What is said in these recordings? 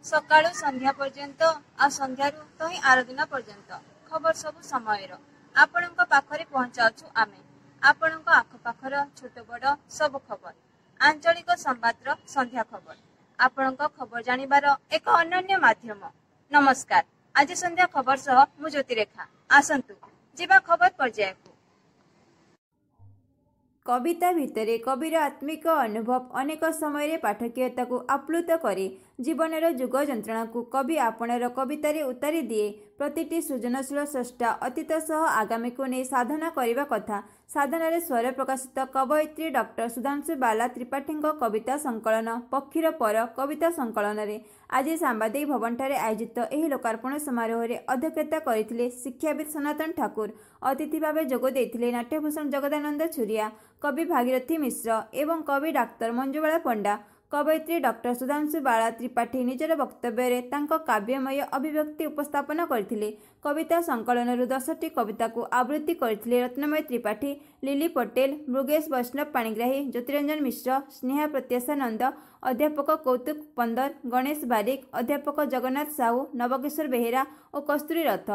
ସକାଳୁ ସନ୍ଧ୍ୟା ପର୍ଯ୍ୟନ୍ତ ଆଉ ସନ୍ଧ୍ୟାରୁ ତହିଁ ଆର ଦିନ ପର୍ଯ୍ୟନ୍ତ ଖବର ସବୁ ସମୟର ଆପଣଙ୍କ ପାଖରେ ପହଞ୍ଚାଉଛୁ ଆମେ। ଆପଣଙ୍କ ଆଖପାଖର ଛୋଟ ବଡ଼ ସବୁ ଖବର, ଆଞ୍ଚଳିକ ସମ୍ବାଦର ସନ୍ଧ୍ୟା ଖବର, ଆପଣଙ୍କ ଖବର ଜାଣିବାର ଏକ ଅନନ୍ୟ ମାଧ୍ୟମ। ନମସ୍କାର, ଆଜି ସନ୍ଧ୍ୟା ଖବର ସହ ମୁଁ ଜ୍ୟୋତିରେଖା। ଆସନ୍ତୁ ଯିବା ଖବର ପର୍ଯ୍ୟାୟକୁ। କବିତା ଭିତରେ କବିର ଆତ୍ମିକ ଅନୁଭବ ଅନେକ ସମୟରେ ପାଠକୀୟତାକୁ ଆପ୍ଲୁତ କରେ। ଜୀବନର ଯୁଗ ଯନ୍ତ୍ରଣାକୁ କବି ଆପଣାର କବିତାରେ ଉତାରି ଦିଏ। ପ୍ରତିଟି ସୃଜନଶୀଳ ସ୍ରଷ୍ଟା ଅତୀତ ସହ ଆଗାମୀକୁ ନେଇ ସାଧନା କରିବା କଥା। ସାଧନାରେ ସ୍ୱର ପ୍ରକାଶିତ କବୟିତ୍ରୀ ଡକ୍ଟର ସୁଧାଂଶୁ ବାଲା ତ୍ରିପାଠୀଙ୍କ କବିତା ସଂକଳନ ପକ୍ଷୀର ପର କବିତା ସଂକଳନରେ ଆଜି ସାମ୍ବାଦିକ ଭବନଠାରେ ଆୟୋଜିତ ଏହି ଲୋକାର୍ପଣ ସମାରୋହରେ ଅଧ୍ୟକ୍ଷତା କରିଥିଲେ ଶିକ୍ଷାବିତ୍ ସନାତନ ଠାକୁର। ଅତିଥି ଭାବେ ଯୋଗ ଦେଇଥିଲେ ନାଟ୍ୟଭୂଷଣ ଜଗଦାନନ୍ଦ ଛୁରିଆ, କବି ଭାଗୀରଥୀ ମିଶ୍ର ଏବଂ କବି ଡାକ୍ତର ମଞ୍ଜୁବାଳା ପଣ୍ଡା। କବୟିତ୍ରୀ ଡକ୍ଟର ସୁଧାଂଶୁ ବାଳା ତ୍ରିପାଠୀ ନିଜର ବକ୍ତବ୍ୟରେ ତାଙ୍କ କାବ୍ୟମୟ ଅଭିବ୍ୟକ୍ତି ଉପସ୍ଥାପନ କରିଥିଲେ। କବିତା ସଂକଳନରୁ 10ଟି କବିତାକୁ ଆବୃତ୍ତି କରିଥିଲେ ରତ୍ନମୟୀ ତ୍ରିପାଠୀ, ଲିଲି ପଟେଲ, ମୃଗେଶ ବୈଷ୍ଣବ ପାଣିଗ୍ରାହୀ, ଜ୍ୟୋତିରଞ୍ଜନ ମିଶ୍ର, ସ୍ନେହା ପ୍ରତ୍ୟାଶା ନନ୍ଦ, ଅଧ୍ୟାପକ କୌତୁକ ପନ୍ଦର, ଗଣେଶ ବାରିକ, ଅଧ୍ୟାପକ ଜଗନ୍ନାଥ ସାହୁ, ନବକିଶୋର ବେହେରା ଓ କସ୍ତୁରୀ ରଥ।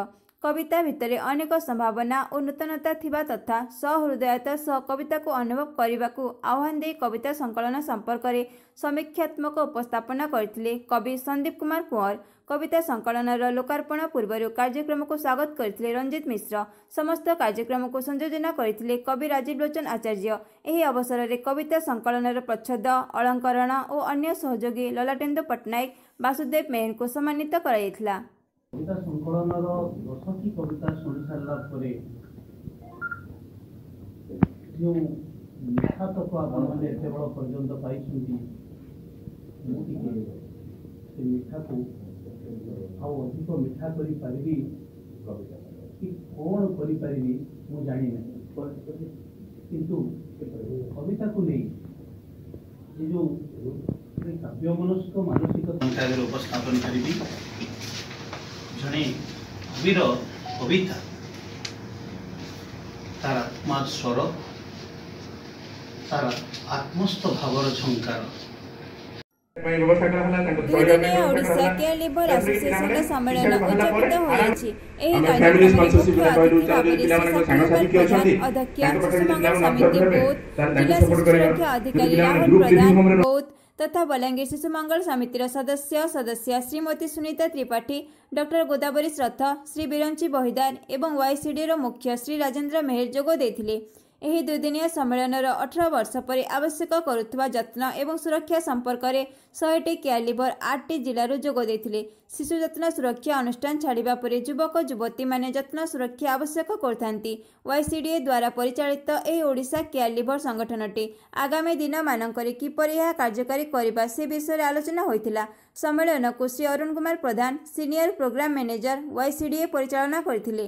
କବିତା ଭିତରେ ଅନେକ ସମ୍ଭାବନା ଓ ନୂତନତା ଥିବା ତଥା ସହୃଦୟତା ସହ କବିତାକୁ ଅନୁଭବ କରିବାକୁ ଆହ୍ୱାନ ଦେଇ କବିତା ସଂକଳନ ସମ୍ପର୍କରେ ସମୀକ୍ଷାତ୍ମକ ଉପସ୍ଥାପନା କରିଥିଲେ କବି ସନ୍ଦୀପ କୁମାର କୁଅଁର। କବିତା ସଂକଳନର ଲୋକାର୍ପଣ ପୂର୍ବରୁ କାର୍ଯ୍ୟକ୍ରମକୁ ସ୍ୱାଗତ କରିଥିଲେ ରଞ୍ଜିତ ମିଶ୍ର। ସମସ୍ତ କାର୍ଯ୍ୟକ୍ରମକୁ ସଂଯୋଜନା କରିଥିଲେ କବି ରାଜୀବ ଲୋଚନ ଆଚାର୍ଯ୍ୟ। ଏହି ଅବସରରେ କବିତା ସଂକଳନର ପ୍ରଚ୍ଛଦ, ଅଳଙ୍କରଣ ଓ ଅନ୍ୟ ସହଯୋଗୀ ଲଲାଟେନ୍ଦୁ ପଟ୍ଟନାୟକ, ବାସୁଦେବ ମେହେରଙ୍କୁ ସମ୍ମାନିତ କରାଯାଇଥିଲା। କବିତା ସଂକଳନର 10ଟି କବିତା ଶୁଣି ସାରିଲା ପରେ ଯେଉଁ ମିଠାତକ ଆପଣମାନେ ଏତେ ବେଳ ପର୍ଯ୍ୟନ୍ତ ପାଇଛନ୍ତି, ମୁଁ ଟିକେ ସେ ମିଠାକୁ ଆଉ ଅଧିକ ମିଠା କରିପାରିବି କି କ'ଣ କରିପାରିବି ମୁଁ ଜାଣିନାହିଁ, କିନ୍ତୁ କବିତାକୁ ନେଇ ଏ ଯେଉଁ କାବ୍ୟମନସ୍କ ମାନସିକତା ଆଗରେ ଉପସ୍ଥାପନ କରିବି। ଜଣେ କବିର କବିତା ତାର ଆତ୍ମାର ସ୍ୱର, ତାର ଆତ୍ମସ୍ଥ ଭାବର ଝଙ୍କାର। ଦୁଇଦିନିଆ ଓଡ଼ିଶା କେୟାର ଲିଭର ଆସୋସିଏସନର ସମ୍ମେଳନ ଉଦଯାପିତ ହୋଇଯାଇଛି। ଏହି କାର୍ଯ୍ୟକ୍ରମରେ ମୁଖ୍ୟ ଅତିଥି ଭାବରେ ଶ୍ରୀ ସତ୍ୟଗୋପାଳ ପ୍ରଧାନ, ଅଧ୍ୟକ୍ଷ, ଶିଶୁ ମଙ୍ଗଳ ସମିତି, ବୌଦ୍ଧ, ଜିଲ୍ଲା ଶିଶୁ ସୁରକ୍ଷା ଅଧିକାରୀ ରାହୁଲ ପ୍ରଧାନ, ବୌଦ୍ଧ ତଥା ବଲାଙ୍ଗୀର ଶିଶୁ ମଙ୍ଗଳ ସମିତିର ସଦସ୍ୟ ସଦସ୍ୟା ଶ୍ରୀମତୀ ସୁନିତା ତ୍ରିପାଠୀ, ଡକ୍ଟର ଗୋଦାବରୀଶ ରଥ, ଶ୍ରୀ ବିରଞ୍ଚି ବହିଦାର ଏବଂ ୱାଇସିଡିର ମୁଖ୍ୟ ଶ୍ରୀ ରାଜେନ୍ଦ୍ର ମେହେର ଯୋଗ ଦେଇଥିଲେ। ଏହି ଦୁଇଦିନିଆ ସମ୍ମେଳନର 18 ବର୍ଷ ପରେ ଆବଶ୍ୟକ କରୁଥିବା ଯତ୍ନ ଏବଂ ସୁରକ୍ଷା ସମ୍ପର୍କରେ 100ଟି କେୟାର ଲିଭର 8ଟି ଜିଲ୍ଲାରୁ ଯୋଗ ଦେଇଥିଲେ। ଶିଶୁ ଯତ୍ନ ସୁରକ୍ଷା ଅନୁଷ୍ଠାନ ଛାଡ଼ିବା ପରେ ଯୁବକ ଯୁବତୀମାନେ ଯତ୍ନ ସୁରକ୍ଷା ଆବଶ୍ୟକ କରିଥାନ୍ତି। ୱାଇସିଡିଏ ଦ୍ୱାରା ପରିଚାଳିତ ଏହି ଓଡ଼ିଶା କେୟାର ଲିଭର ସଂଗଠନଟି ଆଗାମୀ ଦିନମାନଙ୍କରେ କିପରି ଏହା କାର୍ଯ୍ୟକାରୀ କରିବା ସେ ବିଷୟରେ ଆଲୋଚନା ହୋଇଥିଲା। ସମ୍ମେଳନକୁ Shri Arun Kumar Pradhan, senior programme manager, YCDA ପରିଚାଳନା କରିଥିଲେ।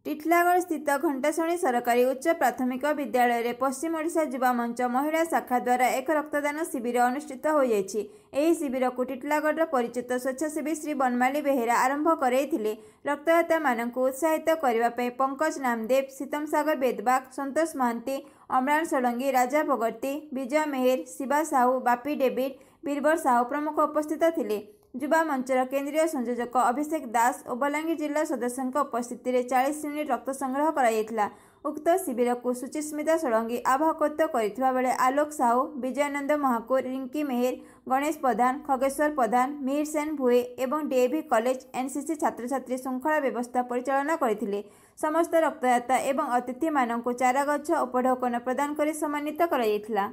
ଟିଟିଲାଗଡ଼ ସ୍ଥିତ ଘଣ୍ଟାଶୁଣି ସରକାରୀ ଉଚ୍ଚ ପ୍ରାଥମିକ ବିଦ୍ୟାଳୟରେ ପଶ୍ଚିମ ଓଡ଼ିଶା ଯୁବା ମଞ୍ଚ ମହିଳା ଶାଖା ଦ୍ୱାରା ଏକ ରକ୍ତଦାନ ଶିବିର ଅନୁଷ୍ଠିତ ହୋଇଯାଇଛି। ଏହି ଶିବିରକୁ ଟିଟିଲାଗଡ଼ର ପରିଚିତ ସ୍ୱେଚ୍ଛାସେବୀ ଶ୍ରୀ ବନମାଳୀ ବେହେରା ଆରମ୍ଭ କରାଇଥିଲେ। ରକ୍ତଦାତାମାନଙ୍କୁ ଉତ୍ସାହିତ କରିବା ପାଇଁ ପଙ୍କଜ ନାମଦେବ, ସୀତମ ସାଗର ବେଦବାଗ, ସନ୍ତୋଷ ମହାନ୍ତି, ଅମ୍ଳାନ ଷଡ଼ଙ୍ଗୀ, ରାଜା ଭଗର୍ତ୍ତି, ବିଜୟ ମେହେର, ଶିବା ସାହୁ, ବାପି ଡେଭିଡ୍, ବୀରବର ସାହୁ ପ୍ରମୁଖ ଉପସ୍ଥିତ ଥିଲେ। ଯୁବା ମଞ୍ଚର କେନ୍ଦ୍ରୀୟ ସଂଯୋଜକ ଅଭିଷେକ ଦାସ ଓ ବଲାଙ୍ଗୀର ଜିଲ୍ଲା ସଦସ୍ୟଙ୍କ ଉପସ୍ଥିତିରେ 40 ୟୁନିଟ୍ ରକ୍ତ ସଂଗ୍ରହ କରାଯାଇଥିଲା। ଉକ୍ତ ଶିବିରକୁ ସୁଚିସ୍ମିତା ଷଡ଼ଙ୍ଗୀ ଆବାହକତ୍ୱ କରିଥିବା ବେଳେ ଆଲୋକ ସାହୁ, ବିଜୟାନନ୍ଦ ମହାକୁର, ରିଙ୍କି ମେହେର, ଗଣେଶ ପ୍ରଧାନ, ଖଗେଶ୍ୱର ପ୍ରଧାନ, ମିହିର ସେନ ଭୁଏ ଏବଂ ଡିଏଭି କଲେଜ ଏନ୍ସିସି ଛାତ୍ରଛାତ୍ରୀ ଶୃଙ୍ଖଳା ବ୍ୟବସ୍ଥା ପରିଚାଳନା କରିଥିଲେ। ସମସ୍ତ ରକ୍ତଦାତା ଏବଂ ଅତିଥିମାନଙ୍କୁ ଚାରାଗଛ ଉପଢୌକନ ପ୍ରଦାନ କରି ସମ୍ମାନିତ କରାଯାଇଥିଲା।